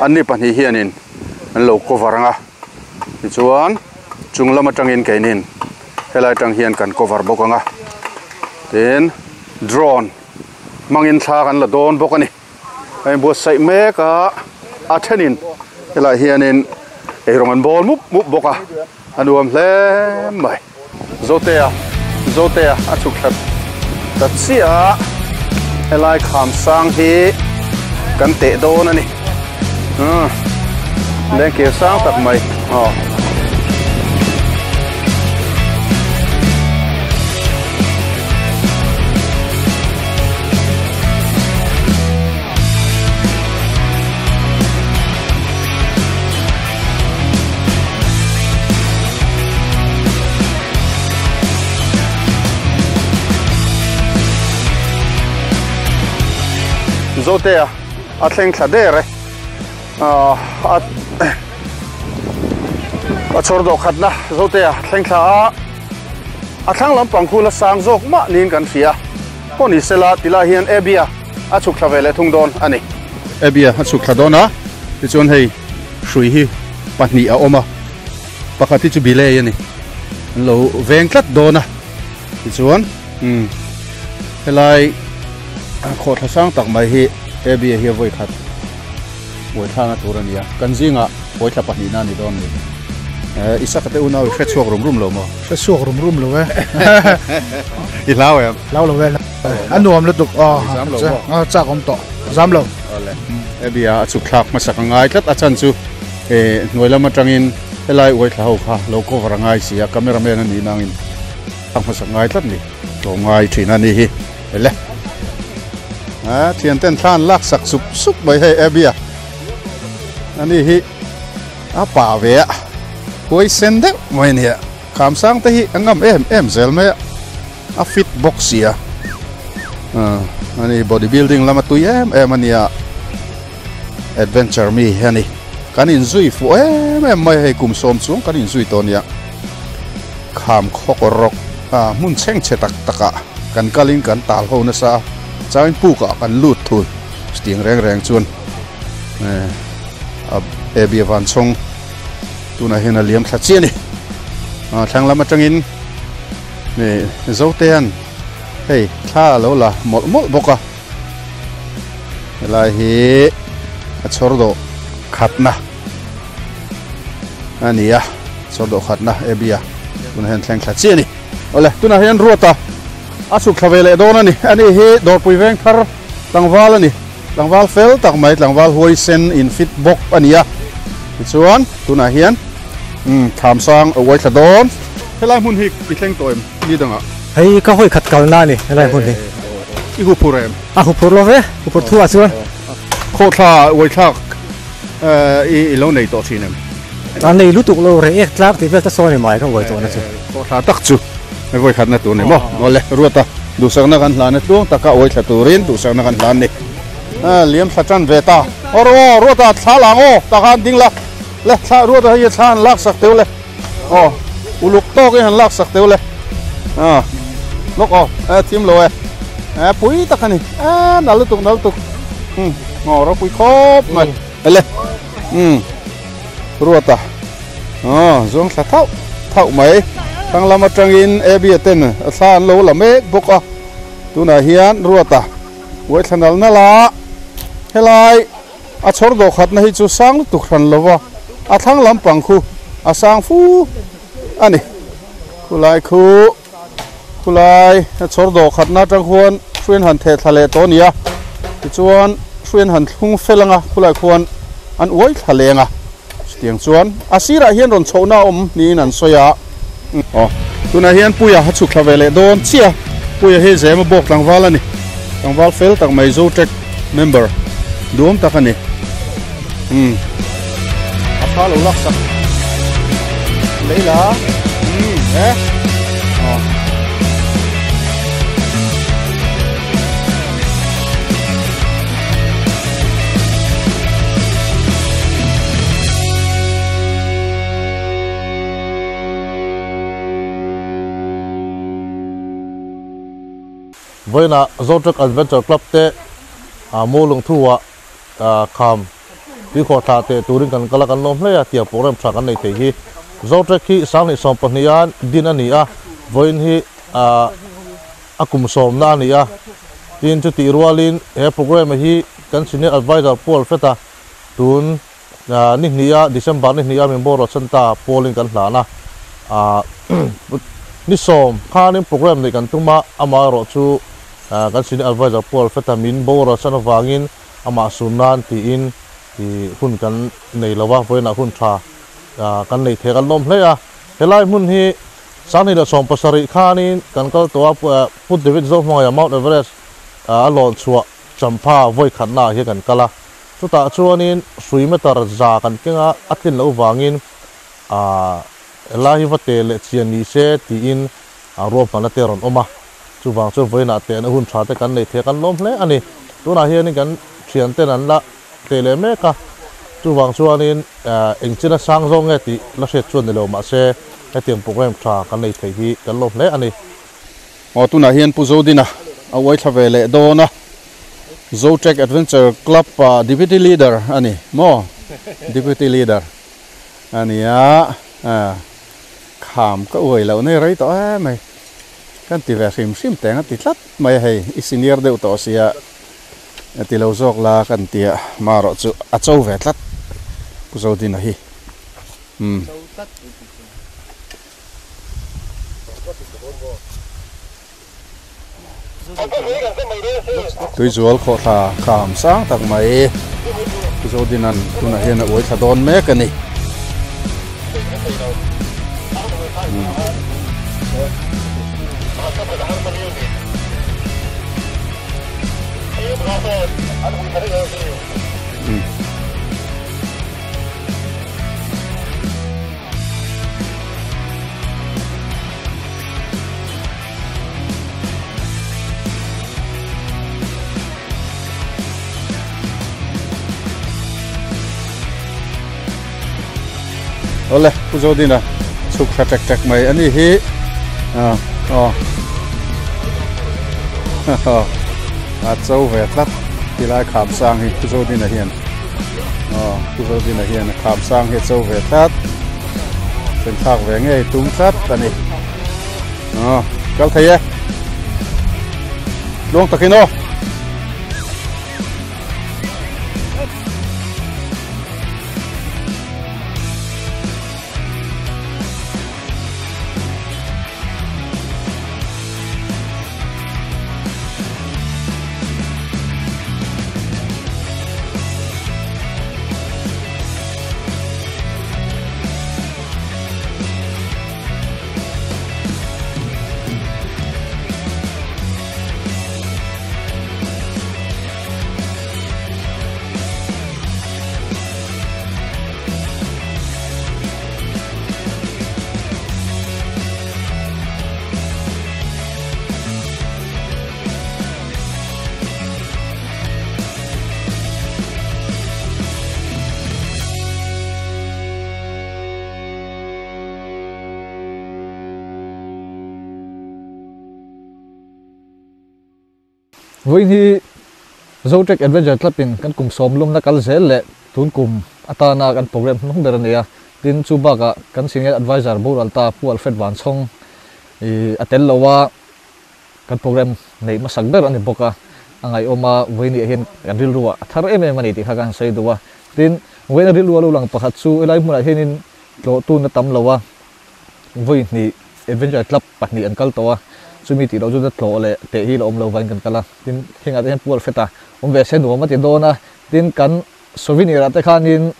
Speaker 1: anni pahnih hianin an lo cover anga tichuan chung lam atangin keinin helai atang hian kan cover bawk anga tin drone hmangin thla kan la dawn bawk a ni. A inbuatsaih mek a, a thenin helaiah hianin eirawng an bawl mup mup bawk a, a nuam hle mai. Zotea Zotea a chhuk thla ta chiah a, helai kham sang hi kan teh dawn a ni. Umm. Lengkir sang tak mai aw. Zotea a thleng thla der e a a chhawr dawh khatna Zotea thleng thla a a thlang lampang khu la sang zawk mah niin kan hria pawh ni sela ti lai hian Abby-a a chhuk thla ve leh thung dawn a ni. Abby-a a chhuk thla dawn a tichuan hei hrui hi pahnih a awm a pakhat hi chu bilei a ni an lo veng tlat dawn a tichuan umm helai khawhthla sang tak mai hi Abby-a hi a vawi khat buaithlakna tur a ni a kan zingah buaithla pahnihna a ni dawn a ni. Isaka te unau i hre chhuak rum rum lo maw?
Speaker 5: Hre chhuak rum rum lo e.
Speaker 1: I hlau em?
Speaker 5: Hlau lo e. A nuam lutuk aw.
Speaker 1: Zam lo maw?
Speaker 5: A chak awm tawh. Zam lo.
Speaker 1: Awle. Abby-a a chhuk thlak hmasak a ngai tlat a chan chu hnuai lam atangin helai uai thla ho kha lo cover a ngai si a, cameraman a nih nangin thlak hmasak ngai tlat ni. Tlawm ngai thin a ni hi. Ele. A thian ten thla an lak sak sup sup mai hei Abby-a. Ani hi A pa ve a, huai sen deuh mai a nia. Kham sang te hi a ngam em em zel mai a, a fit bawk sia. Ani body building lama tui em em a nia, adventure mi hi a ni. Kan inzui fuh em em mai hei kum sawm chuang kan inzui tawh a nia. Kham khawk rawk hmun chhengchhe tak takah kan kalin kan tal ho nasa a, changin pukah kan lut thul chutiang reng reng chuan. A Abby van chhawng tunah hian a liam thla chiah a ni thlang lam atangin Zotean hei thla a lo la mawlh mawlh bawk a helai hi a chhawr dawh khatna a ni a chhawr dawh khatna Abby a tunah hian thleng thla chiah a ni awle tunah hian Ruata a chhuk thla ve leh dawn a ni ani hi dawrpui veng thar tlangval a ni. Tlangval fel tak mai, tlangval huai sen in fit bawk a ni a. Tichuan, tunah hian umm thlam sang a uai thla dawn. Helai hmun hi i thleng tawh em ni dangah?
Speaker 6: Hei ka hawi khat kalna a ni helai hmun hi.
Speaker 1: I hu phur em?
Speaker 6: A hu phur lo ve, hu phur thu ah chuan.
Speaker 1: Khawhthla uai thlak i lo nei tawh thin em?
Speaker 6: A nei lutuk lo, reh ek tlak tih vel ta sawn i mai ka uai tawhna chu.
Speaker 1: Khawhthla tak chu. Hei vawi khatna tur ni maw? Awle, Ruata, duhsakna kan hlan e tluang taka awi thla turin duhsakna kan hlan ni. A, liam thla tan ve ta. Aw rawh aw, Ruata, thla lang aw, tah khan ding la. Le, thla, Ruata hei thla han lak sak teuh le. Aw, uluk tawkin han lak sak teuh le. A, lawk aw, e, thim lo e. E, pui tak a ni. E, nal lutuk, nal lutuk. Um, aw, ropui khawp mai. Le, um, Ruata. Aw zawng thla thauh thauh mai. Thlang lam atangin Abby-a ten a thla an lo la mek bawk a. Tunah hian Ruata uai thla nal nal a, helai a chhawr dawh khatna hi chu sang lutuk hran lo va, a thlang lampang khu a sang fu a ni. Khulai khu khulai a chhawr dawh khatna atang khuan hruian han theh thla leh tawh a ni a, tichuan hruian han thlung fel anga khulai khuan an uai thla leng a. Chutiang chuan a sirah hian rawn chhohna a awm niin an sawi a. Aw, tunah hian Puia a chhuk thla ve leh dawn chiah a. Puia hi Zema bawk tlangval a ni. Tlangval fel tak mai Zotrek member duam tak a ni. Umm. A tha lo lak sak leila. Umm, e. Aw.
Speaker 2: Vawiinah Zotrek Adventure Club te Mualungthu-ah kham tuikhawh thlah teh turin kan kal a, kan lawm hle a, tiang program tha kan nei thei hi. Zotrek hi 2022 a din a ni a, vawiin hi a kum sawmna a ni a, tin chutih rualin he programme hi kan senior adviser Paul Feta tun ni hnih a December ni hnih a min boruak chhan ta Paul-in kan hlan a, ni sawm khanin programme neih kan tum a, amaherawh chu kan senior adviser Paul Feta min boruak chhan avangin amah sun nan tiin. I hun kan nei lo a, vawiinah hun tha kan nei thei kan lawm hle a. Helai hmun hi 2017 khanin kan kal tawh a, Pu David Zohmangaia Mount Everest a lawn chhuah champha vawi khatna ah hian kan kal a. Chutah chuanin hrui meter za kan keng a, a tlin loh vangin helai hi va teh leh chian ni se tiin ruahmanna te a rawn awm a. Chuvang chuan vawiinah tehna hun tha te kan nei thei a, kan lawm hle a ni. Tunah hianin kan thianten an la teh leh mek a, chuvang chuanin eng china sang zawng nge tih la hriat chuan ni lo mahse hetiang program tha kan nei thei hi kan lawm hle a ni.
Speaker 1: Aw tunah hian Pu Zodina a uai thla ve leh dawn a, Zotrek Adventure Club ah Deputy Leader a ni maw? Deputy Leader a ni a, kham ka uai loh nei rei tawh em mai, kan ti ve hrim hrim teng a ti tlat mai a hei, i senior deuh tawh sia. Ti lo zawk la kan tia marawh chu a cho ve tlat Pu Zodina hi umm. Tuizual khawhthla kham sang tak mai Pu Zodina'n tunah hian a uai thla dawn mek a ni. Awle Pu Zodina chhuk thla tek tek mai a ni hi ah aw a cho ve tlat tilai kham sang hi Pu Zodina hian aw Pu Zodina hian a kham sang hi a cho ve tlat thlen thlak ve ngei tum tlat a ni aw kal thei e tluang takin aw.
Speaker 7: Vawiin hi Zotrek Adventure Club in kan kum sawm lumna kal zel leh tun kum atana kan program hnung ber a ni a. Tin, chu bakah kan Senior Advisor Boral ta Pu Alfred Vanchhawng i a tel lo a, kan program neih hmasak ber a ni bawk a. A ngaihawm a, vawiin ah hian kan rilru ah a thar em em a ni tih kha ka han sawi duh a. Tin, vawiin a rilru a lo lang pakhat chu helai hmunah hianin tlawhtun a tam lo a. Vawi hnih Adventure Club pahnih an kal tawh a, chumi tih loh chu tlawh leh teh hi la awm lo vain kan kal a, tin hengah te hian pual fet a awm ve se nuam a ti dawn a, tin kan souvenir ah te khanin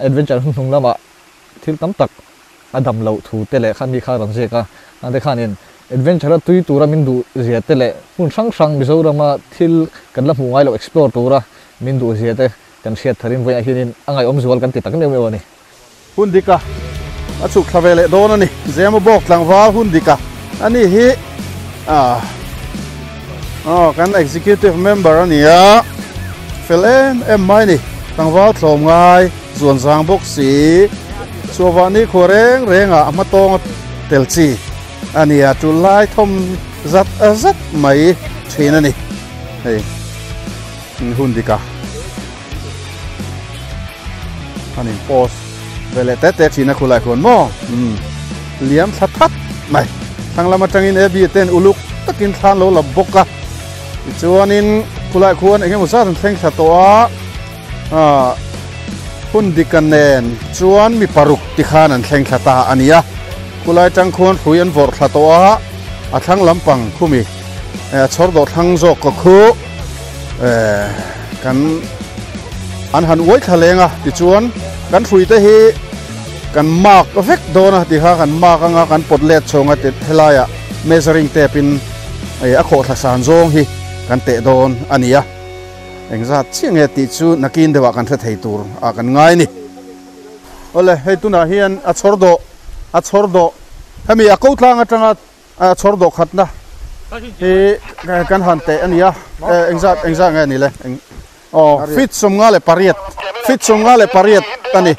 Speaker 7: Adventure hun hnung lamah thil tam tak a dam loh thu te leh khan mi kha rawn ziak a, an te khanin Adventure a tui tura min duh zia te leh hmun hrang hrang Mizorama thil kan la hmuh ngai loh explore tura min duh zia te kan hriat tharin vawiah hianin a ngaihawm zual kan ti tak meuh meuh a ni.
Speaker 1: Hun dika a chhuk thla ve leh dawn a ni. Zema bawk tlangval hun dika a ni hi ah aw kan executive member a ni a, fel em em mai ni. Tlangval tlawm ngai zuan zang bawk si chhuahvah ni khua reng rengah a hmatawng a tel chi a ni a, tul lai thawm zat zat mai thin a ni hei hun dika. An in post ve leh te te thin a khulai khuan maw umm liam thla that mai thlang lam atangin ab ten uluk takin thlan lo la bawk a tichuanin khulai khuan eng emaw zat an thleng thla tawh a ah hun dika nen chuan mi paruk ti khan an thleng thla ta a ni a khulai tang khuan hrui an vawrh thla tawh a a thlang lampang khumi eh chhawr dawh thlang zawk ka khu eh kan. An han uai thla leng a, tichuan kan hruite hi kan mark vek dawn a, tikha kan mark anga kan pawt let chhawng a helaiah measuring tape in a khawhthla san zawng hi kan teh dawn a ni a. Engzat chiah nge tih chu nakin deuhah kan hre thei tur ah kan ngai a ni. Awle, hei tunah hian a chhawr dawh, a chhawr dawh, hemi a ko tlang atanga a chhawr dawh khatna hi kan han teh a ni a, engzat engzat nge a ni le? Aw, feet 58, feet 58 a ni.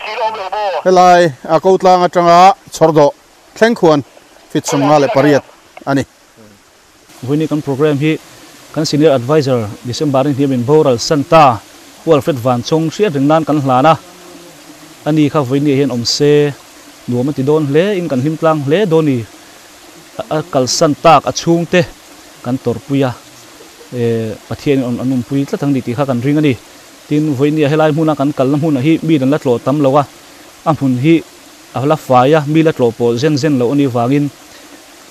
Speaker 1: Helai a ko tlang atanga chhawr dawh thleng khuan feet 58 a ni.
Speaker 8: Vawiin kan program hi kan Senior Adviser December ni hniamin boral Santa Pu Alfred Vanchawng hriat reng nan kan hlan a, ani kha vawiin ah hian awm se nuam a ti dawn hle in kan hlim tlang hle dawn ni, a kalsan tak a chhungte kan tawrhpui a, Pathian in an awmpui tlat ang ni tih kha kan ring a ni. Tin, vawiin ah helai hmuna kan kalna hmunah hi mi an la tlawh tam lo a, a hmun hi a la fai a, mi la tlawh pawh zen zen loh a nih vangin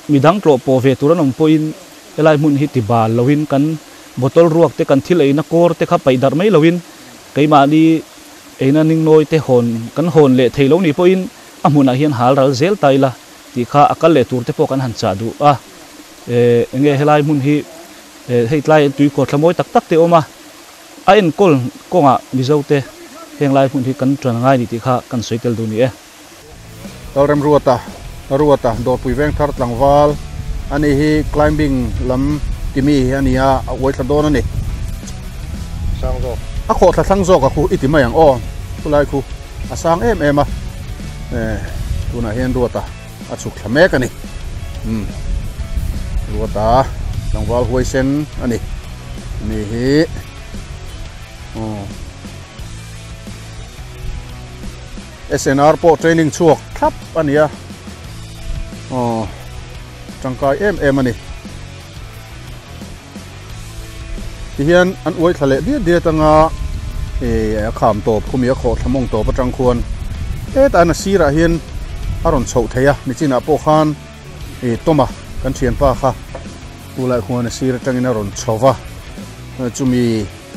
Speaker 8: Midang tlawh pawh ve tur an awm pawhin helai hmun hi ti bal loin kan bottle ruak te kan thil eina kawr te kha paih darh mai loin keimahni eina ningnawi te hawn kan hawn leh thei lo nih pawhin a hmunah hian hal ral zel ta ila tih kha a kal leh tur te pawh kan han chah duh a. Enge helai hmun hi hei tlai tui kawr thla mawi tak tak te a awm a, a enkawl kawngah Mizo te heng lai hmun hi kan tan ngai ni tih kha kan sawi tel duh ni e.
Speaker 1: Lalremruata, Ruata, Dawrpui Vengthar tlangval a ni hi climbing lam timi hi a ni a, a uai thla dawn a ni.
Speaker 2: Sang zawk.
Speaker 1: A khawh thla thlang zawk a khu i ti mai ang aw, khulai khu a sang em em a, tunah hian Ruata a chhuk thla mek a ni. Umm Ruata tlangval huaisen a ni, ani hi aw. SNR pawh training chhuak thlap a ni a, aw tangkai em em a ni. Tihian an uai thla leh diat diat anga eh a kham tawp khumi a khawh thla mawng tawp atang khuan hetah hian a sirah hian a rawn chhoh thei a, nichinah pawh khan eh Tawma kan thianpa kha tulai khuan a sir atangin a rawn chho va, chumi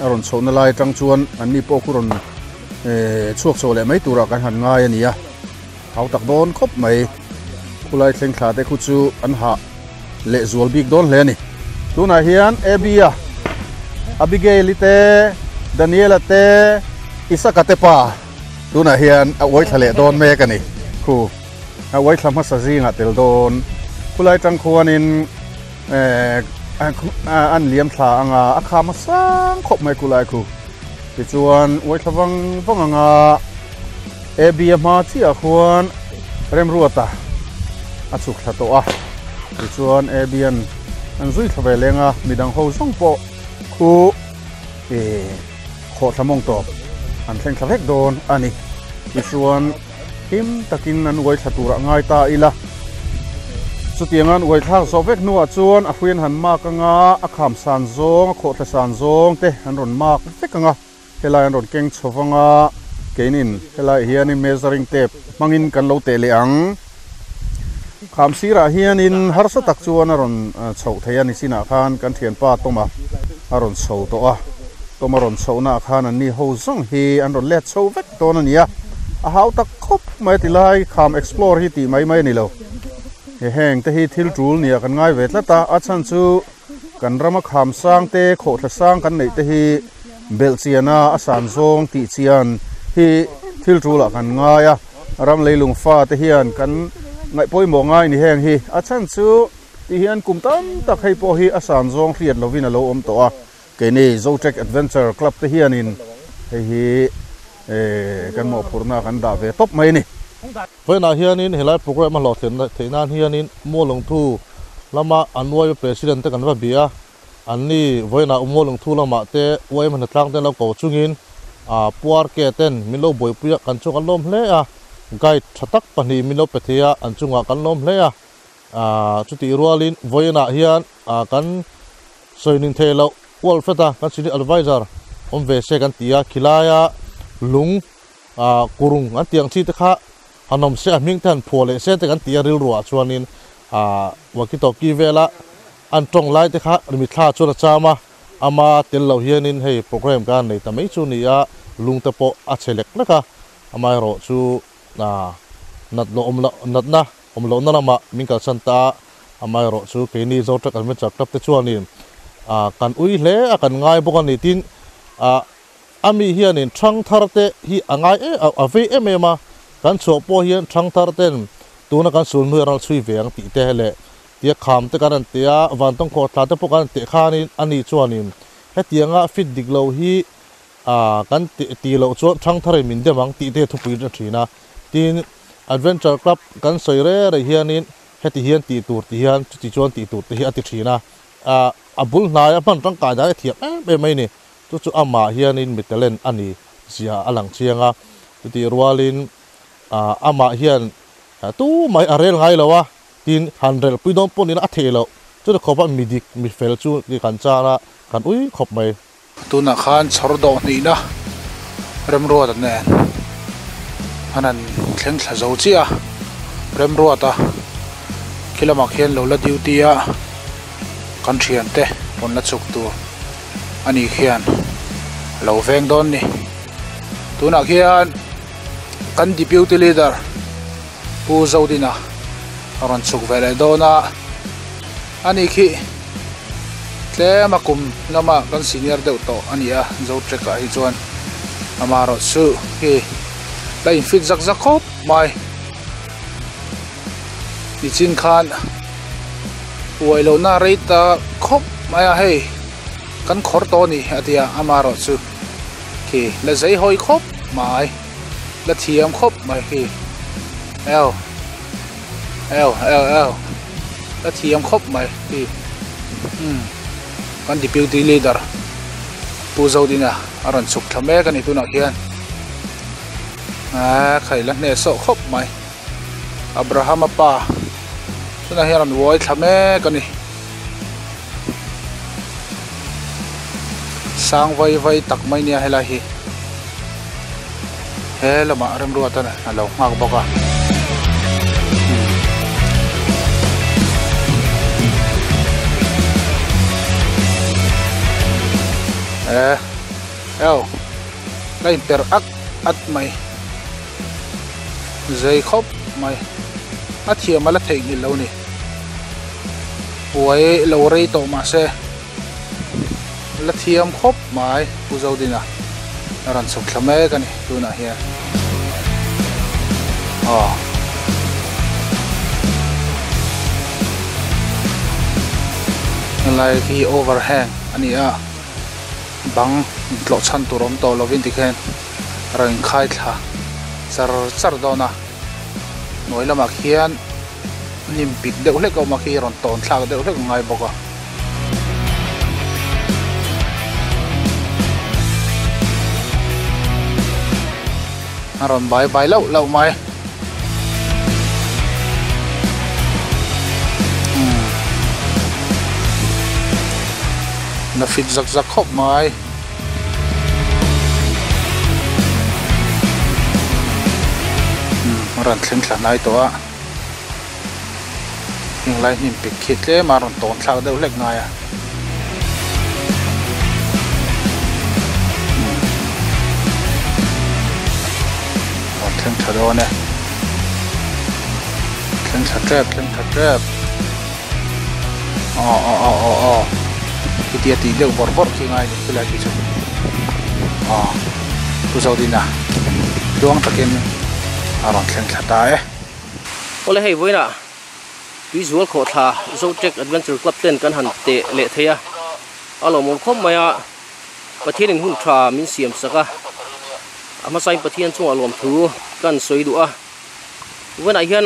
Speaker 1: a rawn chhohna lai atang chuan anni pawh khu rawn chhuak chho leh mai turah kan han ngai a ni a, hau tak dawn khawp mai. Khulai thleng thla te khu chu an hah leh zual bik dawn hle a ni. Tunah hian Abby-a, Abigail-i te, Daniel-a te, Isaka te pa tunah hian a uai thla leh dawn mek a ni. Khu a uai thla hmasa zingah tel dawn. Khulai tang khuanin an liam thla anga a kham a sang khawp mai khulai khu. Tichuan uai thla vang vang anga Abby a hma chiah khuan Remruata a chhuk thla tawh a, tichuan Abby an an zui thla ve leng a, midang ho zawng pawh khu ih khawh thla mawng tawp an thleng thla vek dawn a ni. Tichuan him takin an uai thla turah ngai ta ila. Chutianga an uai thlak zawh vek hnuah chuan a hruian han mak anga a kham san zawng, a khawhthla san zawng te an rawn mak vek anga helai an rawn keng chho vanga keinin helai hianin measuring tape hmangin kan lo teh leh ang. Kham sirah hianin harsa tak chuan a rawn chhoh thei a ni chinah khan kan thianpa Tawma a rawn chho tawh a, Tawma rawn chhohnaah khan anni ho zawng hi an rawn let chho vek dawn a ni a, a hau tak khawp mai a ti lai, kham explore hi tih mai mai a ni lo. He heng te hi thil tul nia kan ngai ve tlat a, a chhan chu kan rama kham sang te, khawhthla sang kan neih te hi belh chiana a san zawng tih chian hi thil tulah kan ngai a, ram leilung fa te hian kan ngaih pawimawh ngai ni heng hi, a chhan chu ti hian kum tam tak hei pawh hi a san zawng hriat lovin a lo awm tawh a. Keini Zotrek Adventure Club te hianin hei hi kan mawhphurhna kan dah ve tawp mai a ni.
Speaker 2: Vawiinah hianin helai program a hlawhthlenna theih nan hianin Mualungthu lama an YM President te kan va bia a, anni vawiinah Mualungthu lamah te YM hnatlang te an lo ko chungin Puar ke ten min lo buaipui a, kan chung an lawm hle a, guide tha tak pahnih min lo pe thei a, an chungah kan lawm hle a. Chutih rualin vawiinah hian kan sawi ning thei loh kual fret a, kan senior adviser awm ve se kan ti a, khilaia lung kurung an tih ang chi te kha han awm se a hming te han phuah leh se te kan ti a rilruah chuanin walkie talkie vela an tawng lai te kha mithla chuan a cham a, ama tel lo hianin hei program kan nei ta mai chu ni a. lung te pawh a chhe lek lek a, amaherawh chu nat loh awm loh natna awm lohna lamah min kalsan ta a, amaherawh chu keini Zotrack Adventure Club te chuanin kan ui hle a kan ngai bawk a ni tin a mi hianin thangthar te hi a ngai a vei em em a, kan chhuah pawh hian thangthar ten tuna kan sul hnuai ral chhui ve ang tih te leh tia kham te kan rawn teh a, vantawng khawhthla te pawh kan rawn teh khanin a ni chuanin hetianga fit dik lo hi kan tih loh chuan thangtharin min dem ang tih te thupui a thin a. Tin, Adventure Club kan sawi re re hianin heti hian tih tur ti hian chuti chuan tih tur te hi a ti thin a, a bul hnaia hman tangkai dan a thiam em em mai ni. Chu chu amah hianin mi talent a ni zia a lang chiang a, chutih rualin amah hian tu mai a rel ngai lo a, Tin, han relpui dawn pawh nila a theih loh. Chuti khawpa mi dik, mi fel chu ti kan char a, kan ui khawp mai.
Speaker 5: Tunah khan chhawr dawh hnihna Remruata nen an han thleng thla zo chiah a, Remruata khi lamah khian lo la duty a, kan thiante rawn la chhuk tur a nih khian a lo veng dawn ni. Tunah khian kan deputy leader. Pu Zodina a rawn chhuk ve leh dawn a, ani khi tlem a kum lama kan senior deuh tawh a ni a, Zotrek ah hi chuan amaherawh chu hi la in fit zak zak khawp mai, nichin khan uai lohna rei ta khawp mai a hei kan khawr tawh a ni a ti a, amaherawh chu khi la zei hawi khawp mai. La thiam khawp mai khi eo eo eo eo la thiam khawp mai khi umm kan deputy leader Pu Zodina a rawn chhuk thla mek a ni tunah khian aaa khai la hneh sawh khawp mai Abraham-a pa tunah hian a rawn uai thla mek a ni sang vai vai tak mai nia helai hi. He lamah remruat a lo nghak bawk a. E eo la in per at at mai zei khawp mai a thiam a la theihnghilh lo ni buai lo rei tawh mahse. La thiam khawp mai Pu Zodina a rawn chhuk thla mek a ni tunah hian aw helai hi overhang a ni a bang intlawh chhan tur awm tawh lovin tikhian a rawn inkhai thla char char dawn a hnuai lamah khian hnim pik deuh hlek a awm a khi rawn tawn thlak deuh hlek a ngai bawk a. A rawn bai bai lauh lauh mai. Na fit zak zak khawp mai. A rawn thleng thla hnai tawh a. Heng lai hnim pik khi tlem a rawn tawn thlak deuh hlek ngai a. Rawn thleng tha dawn e. Thleng thla tep, thleng thla tep. Aw aw aw aw aw. Khitia tih deuh bawrh bawrh khi ngai ni khilai khi chu. Aw. Pu Zodina tluang takin a rawn thleng thla ta e.
Speaker 4: Awle hei vawiinah Tuizual khawhthla Zotrek Adventure Club ten kan han teh leh thei a, a lawmawm khawp mai a, Pathianin hun tha min siam sak a, a hmasain Pathian chungah lawmthu kan sawi duh a, vawiinah hian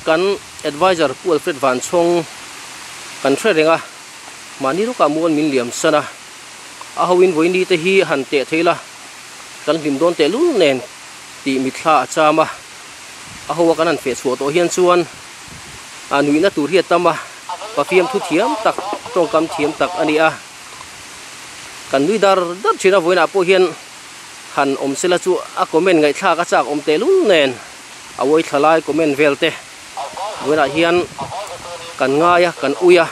Speaker 4: kan Adviser Pu Alfred Vanchhawng kan hre reng a, mahni rawkah mual min liam san a, a hoin vawiini te hi han teh thei la, kan hlim dawn tehlul nen tih mitthla a cham a. A ho a kan han feh chhuah tawh hian chuan a nuihna tur hi a tam a, pafiam thu thiam tak, tawngkam thiam tak a ni a. Kan nui dar dar thin a, vawiinah pawh hian han awm sela chu a comment ngaihthlak a chak awm tehlul nen a uai thla lai comment vel te vawiinah hian kan ngai a, kan ui a,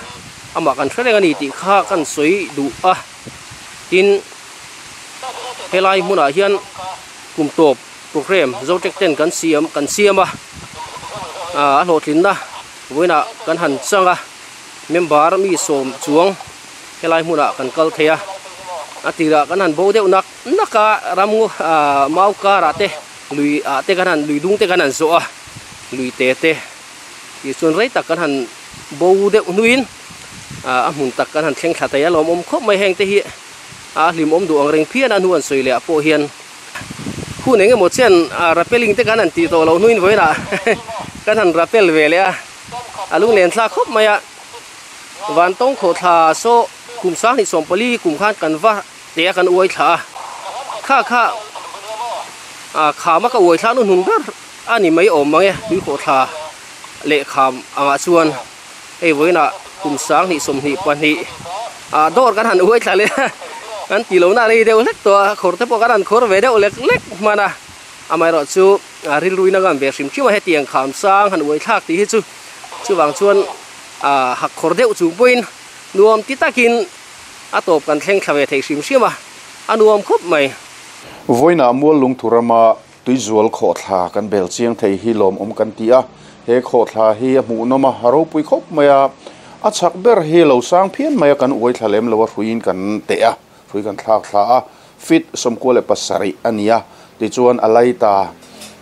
Speaker 4: amah kan hre reng a ni tih kha kan sawi duh a. Tin, helai hmunah hian. Kum tawp program Zotrek ten kan siam kan siam a a hlawhtlinna vawiinah kan han chang a member mi sawm chuang helai hmunah kan kal thei a a tirah kan han bo deuh nak nak a ram mau karah te lui ah te kan han lui dung te kan han zawh a lui te te tichuan rei tak kan han bo deuh hnuin a hmun tak kan han thleng thla thei a lawmawm khawp mai heng te hi a hlimawm duh ang reng phian a hnu an sawi leh ah pawh hian hun eng emaw chian rappelling te kan han tih tawh loh hnuin vawiinah kan han rappel ve leh a a lunglen thlak khawp mai a vantawng khawhthla saw kum sanghnih sawmpali kum khan kan va teh a kan uai thla a kha kha khama ka uai thla nu hnun ber a ni mai awm mang e tui khawhthla leh kham angah chuan hei vawiinah kum 2022 ah dawr kan han uai thla leh a kan ti lohna a rei deuh hlek tawh a khawr te pawh kan han khawr ve deuh lek lek hman a amaherawhchu rilruin a ngam ve hrim hrim a hetiang kham sang han uai thlak tih hi chu chuvang chuan ah hak khawr deuh chung pawhin nuam ti takin a tawp kan thleng thla ve thei hrim hrim a a nuam khawp mai.
Speaker 1: Vawiinah Muallungthu rama Tuizual khawhthla kan bel chiang thei hi lawmawm kan ti a, he khawhthla hi a hmuhnawm a, a ropui khawp mai a, a chhak ber hi lo sang phian mai a, kan uai thla lem lo a, hruiin kan teh a, hrui kan thlak thla a, feet 97 a ni a, tichuan a laita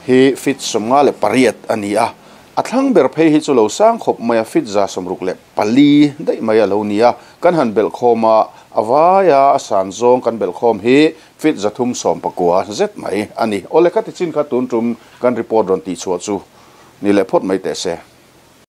Speaker 1: hi feet 58 a ni a, a thlang ber phei hi chu lo sang khawp mai a, feet 164 daih mai a lo ni a, kan han belh khawm a, a vaia a san zawng kan belh khawm hi Feet 319 zet mai a ni. Awle ka ti chin kha tun tum kan report rawn tih chhuah chu ni leh phawt mai teh se.